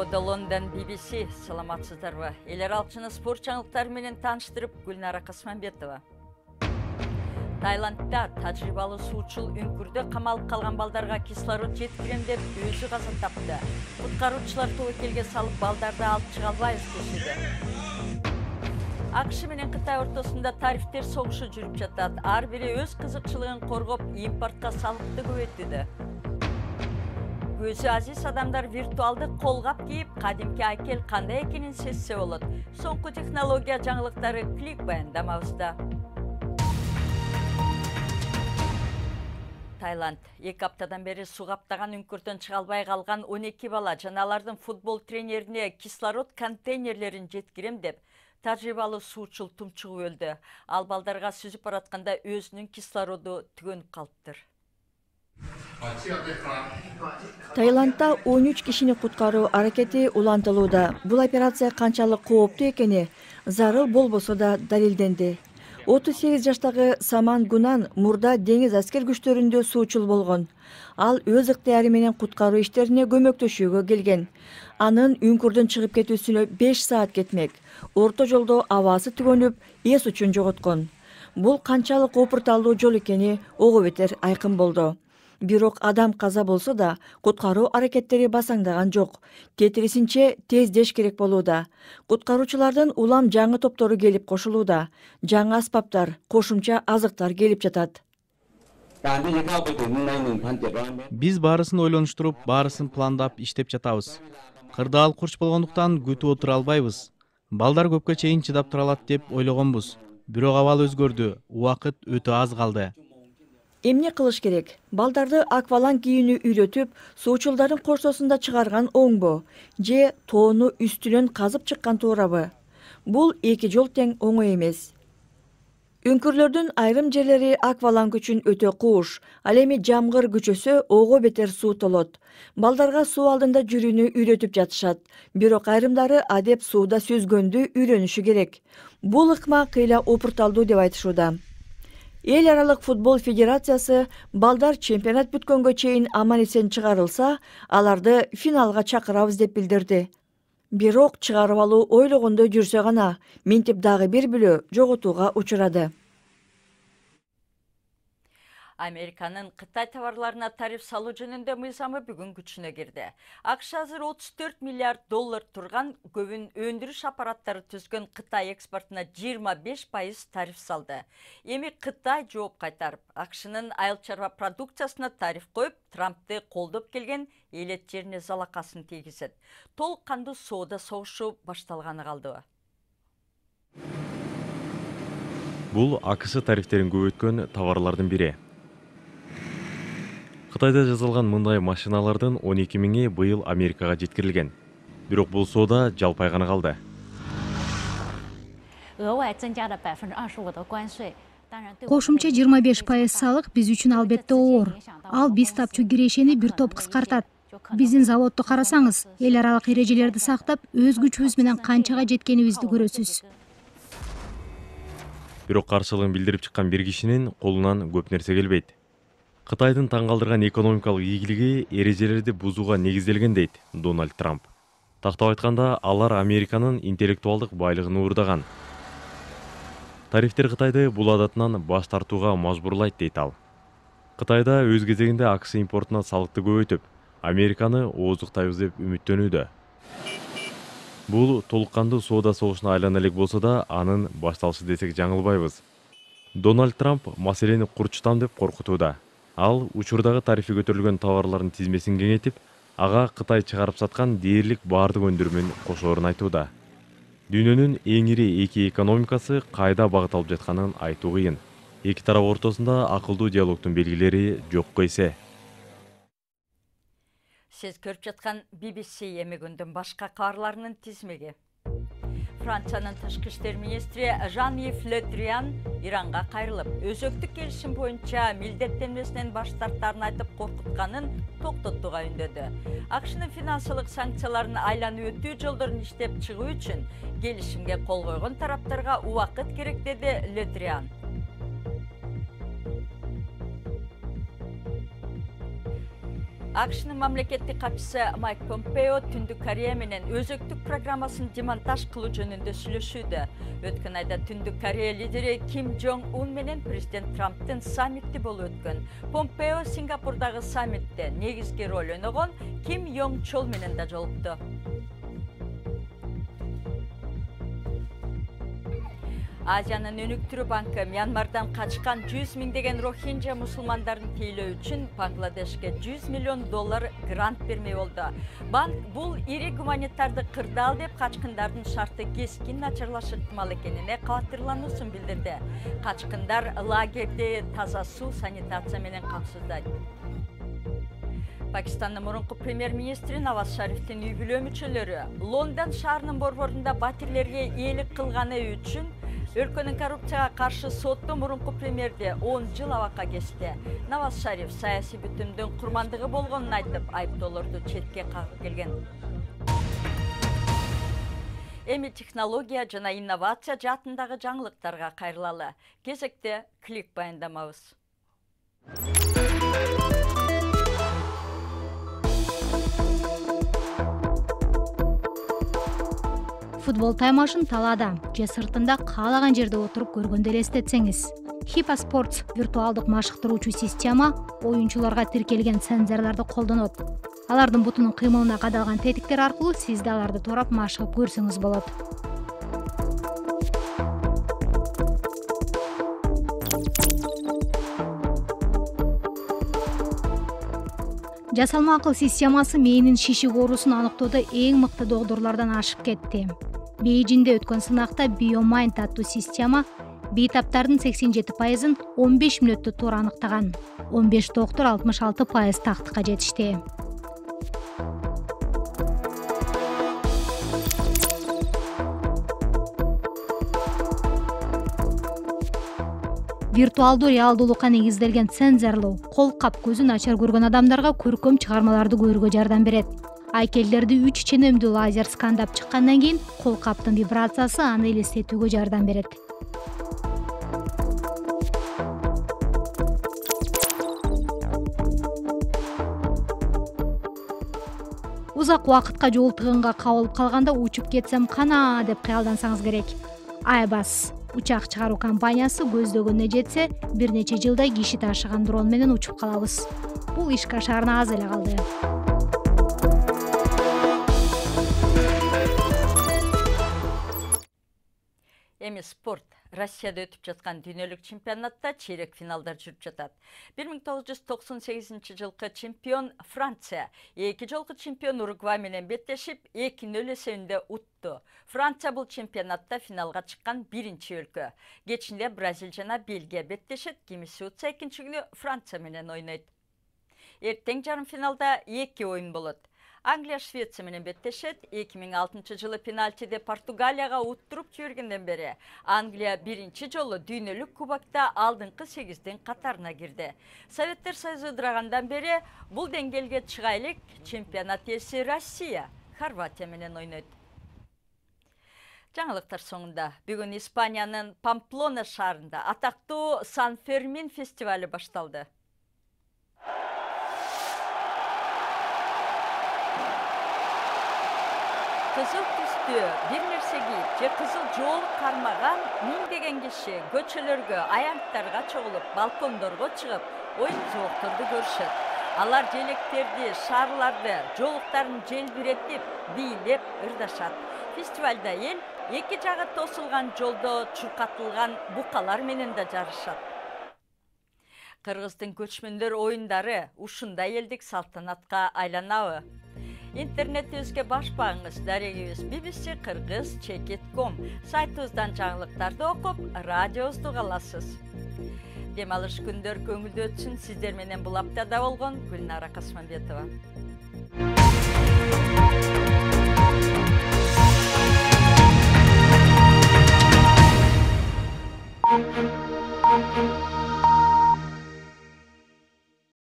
Студиода Лондон BBC. Саламатсыздарбы? Элер алчыны спорт жаңылыктары менен тааныштырып, Гүлнара Касманбетова. Таиландда тажрыйбалуу суучул үңкүрдө камалып калган балдарга кислород жеткирем деп өзү каза тапты. Куткаруучулар тобокелге салып балдарды алып чыга албайбыз дешти. АКШ менен Кытай ортосунда тарифтер согушу жүрүп жатат. Ар бири өз кызыкчылыгын коргоп, импортко салыкты көбөйтүүдө. Көзү азиз адамдар виртуалдык колгап кийип, кадимки айкел кандай экенин сезсе болот. Соңку технология жаңылыктары клик баяндамабызда. Таиланд 2 аптадан бери суу каптаган үңкүрдөн чыга албай калган 12 бала жана алардын футбол тренерине кислород контейнерлерин жеткирем деп тажрыйбалуу суучул тумчугуп өлдү. Ал балдарга сүзүп баратканда өзүнүн кислороду түгөнүп калыптыр. Таиландда 13 кишини куткаруу аракети улантылууда. Бул операция канчалык кооптуу экени зарыл болбосо да далилденди. 38 жаштагы Саман Гунан мурда деңиз аскер күчтөрүндө суучул болгон. Ал өз ыктыяры менен куткаруу иштерине көмөктөшүүгө келген. Анын үңкүрдөн чыгып кетүүсүнө 5 саат кетмек. Орто жолдо абасы түгөнүп, эс учун жоготкон. Бул канчалык опурталдуу жол экени ого бетер айкын болду. Бирок адам каза болсо да, куткаруу аракеттери басаңдаган жок. Тетирисинче тездеш керек болууда. Куткаруучулардын улам жаңы топтору келип кошулууда. Жаңы аспаптар, кошумча азыктар келип жатат. Биз баарысын ойлонуштуруп, баарысын пландап иштеп жатабыз. Кырдаал курч болгондуктан күтүп отура албайбыз. Балдар көпкө чейин чыдап тура алат деп ойлогонбуз. Бирок абал өзгөрдү. Убакыт өтө аз калды. Эмне кылыш керек? Балдарды акваланг кийүүнү үйрөтүп, суучулдардын корсосунда чыгарган оңбу? Же тоону үстүнөн казып чыккан туурабы? Бул эки жол тең оңой эмес. Үңкүрлөрдүн айрым жерлери акваланг үчүн өтө кууш. Ал эми жамгыр күчөсө ого бетер суу толот. Балдарга суу алдында жүрүүнү үйрөтүп жатышат. Бирок айрымдары адеп сууда сүзгөндү үйрөнүшү керек. Бул ыкма кыйла опурталдуу деп айтышууда. Эл аралык футбол федерациясы балдар чемпионат бүткөнгө чейин аман-эсен чыгарылса, аларды финалга чакырабыз деп билдирди. Бирок чыгарып алуу ойлогондой жүрсө гана, минтип дагы бир бүлө жоготууга учурады. Американын Кытай товарларына тариф салуу жөнүндө мыйзамы бүгүн күчүнө кирди. АКШ азыр 34 миллиард доллар турган көбүн өндүрүш аппараттары түзгөн Кытай экспортуна 25% тариф салды. Эми Кытай жооп кайтарып, АКШнын айыл чарба продукциясына тариф коюп, Трампты колдоп келген элет жерине залакасын тийгизет. Толук кандуу соода согушу башталганы калдыбы? Бул АКШ тарифтерин көбөйткөн товарлардын бири. Кытайда жасалган мындай машиналардын 12 миңи быйыл Америкага жеткирилген. Бирок бул соода жалпайганы калды. Кошумча 25% салык биз үчүн албетте оор. Ал биз тапчу кирешени бир топ кыскартат. Биздин заводду карасаңыз, эл аралык эрежелерди сактап, өз күчүбүз менен канчага жеткенибизди көрөсүз. Бирок каршылыгын билдирип чыккан бир кишинин колунан көп нерсе келбейт. Кытайдын таң калтырган экономикалык ийгилиги эрежелерди бузууга негизделген дейт Дональд Трамп. Тактап айтканда, алар Американын интеллектуалдык байлыгын уурдаган. Тарифтер Кытайды бул адатынан баш тартууга мажбурлайт дейт ал. Кытайда өз кезегинде АКШ импортуна салыкты көбөйтүп, Американы ооздуктайбыз деп үмүттөнүүдө. Бул толук кандуу соода согушуна айлана элек болсо да, анын башталышы десек жаңылбайбыз. Дональд Трамп маселени курчутам деп коркутууда. Ал учурдагы тарифи көтөрүлгөн товарлардын тизмесин кеңейтип, ага Кытай чыгарып саткан дээрлик баардык өндүрмөн кошоорун айтууда. Дүйнөнүн эң ири эки экономикасы кайда багыт алып жатканын айтуу кыйын. Эки тарап ортосунда акылдуу диалогдун белгилери жокко эсе. Сиз көрүп жаткан BBC эми күндүн башка кабарларынын тизмеги. Франциянын тышкы иштер министри Жан-Йves Le Drian Иранга кайрылып, өзөктүк келишим боюнча милдеттенмесинен баш тартарын айтып коркутканын токтотууга үндөдү. АКШнын финансылык санкцияларын айланып өтүү жолдорун иштеп чыгуу үчүн келишимге кол койгон тараптарга убакыт керек деди Le Drian. AQShnын мамлекеттик катчысы Майк Помпео Түндүк Корея менен өзөктүк программасын демонтаж кылуу жөнүндө сүйлөшүүдө. Өткөн айда Түндүк Корея лидери Ким Жонг Ун менен президент Трамптын саммити болуп өткөн. Помпео Сингапурдагы саммитте негизги роль ойногон Ким Йонг Чол менен да жолукту. Азиянын өнүктүрүү банкы Мьянмардан качкан 100 миңдеген рохинджа мусулмандарын тейлөө үчүн Бангладешке $100 миллион грант бермей болду. Банк бул ири гуманитардык кырдаал деп качкындардын шарты кескин начарлашы ыктымал экенине кабатырлануусун билдирди. Качкындар лагерде таза суу, санитация менен камсыздайт. Пакистандын мурунку премьер-министри Наваз Шарифтин үй бүлө мүчөлөрү Лондон шаарынын борборунда батирлерге ээлик кылганы үчүн өлкөнүн коррупцияга каршы сотто мурунку премьерди 10 жыл абакка кести. Наваз Шариф саясий бүтүмдүн курмандыгы болгонун айтып, айыптоолорду четке кагып келген. Эми технология жана инновация жаатындагы жаңылыктарга кайрылалы. Кезекте клик баяндамабыз. Футбол таймашын талаада же сыртында каалаган жерде отуруп көргөндө элестетсеңиз. HIPAA Sports виртуалдык машыктыруучу система оюнчуларга тиркелген сензорлорду колдонот. Алардын бутунун кыймылына кадалган тетиктер аркылуу сиз да аларды турап машыгып көрсөңүз болот. Жасалма акыл системасы мээнин шишик оорусун аныктоодо эң мыкты докторлордон ашып кетти. Бейжиңде өткөн сынакта BioMind аттуу система бейтаптардын 87%-ын 15 мүнөттө туура аныктаган. 15 доктор 66% тактыкка жетишти. Виртуалдуу реалдуулукка негизделген сензорлуу кол кап көзү начар көргөн адамдарга көркөм чыгармаларды көрүүгө жардам берет. Айкелдерди 3 ченемдүү лазер скандап чыккандан кийин кол каптын вибрациясы аны элестетүүгө жардам берет. Узак убакытка жол тыгынга кабылып калганда учуп кетсем кана деп кыялдансаңыз керек. Airbus учак чыгаруу компаниясы көздөгөнүнө жетсе, бир нече жылда киши ташыган дрон менен учуп калабыз. Бул иш кашарына аз эле калды. Эми спорт. Россияда өтүп жаткан дүйнөлүк чемпионатта чейрек финалдар жүрүп жатат. 1998 жылкы чемпион Франция, 2 жолку чемпион Уругвай менен беттешип, 2-0 эсебинде утту. Франция бул чемпионатта финалга чыккан биринчи өлкө. Кечинде Бразилия жана Бельгия беттешет, кимиси утса экинчи күнү Франция менен ойнойт. Эртең жарым финалда 2 оюн болот. Англия Швеция менен беттешет. 2006 жылы пенальтиде Португалияга уттуруп жибергенден бери Англия биринчи жолу дүйнөлүк кубокто алдыңкы 8-дин катарына кирди. Советтер Союзу ыдырагандан бери бул деңгээлге чыга элек чемпионат ээси Россия Хорватия менен ойнойт. Жаңылыктар соңунда бүгүн Испаниянын Памплона шаарында атактуу Сан-Фермин фестивали башталды. Кызыл түстүү бир нерсе кийип же кызыл жоолук кармаган миңдеген киши көчөлөргө, аянттарга чогулуп, балкондорго чыгып, оюн жоокторду көрүшөт. Алар желектерди, шарларды, жоолуктарын желбиретип, бийлеп ырдашат. Фестивалда эл эки жагы тосулган жолдо чуркатылган букалар менен да жарышат. Кыргыздын көчмөндөр оюндары ушундай элдик салтанатка айланабы? Интернетибизге баш багыңыз, дарегибиз bbc-kyrgyz.com сайтыбыздан жаңылыктарды окуп, радиобузду уга аласыз. Дем алыш күндөр көңүлдүү өтсүн. Сиздер менен бул аптада болгон Гүлнара Касманбетова.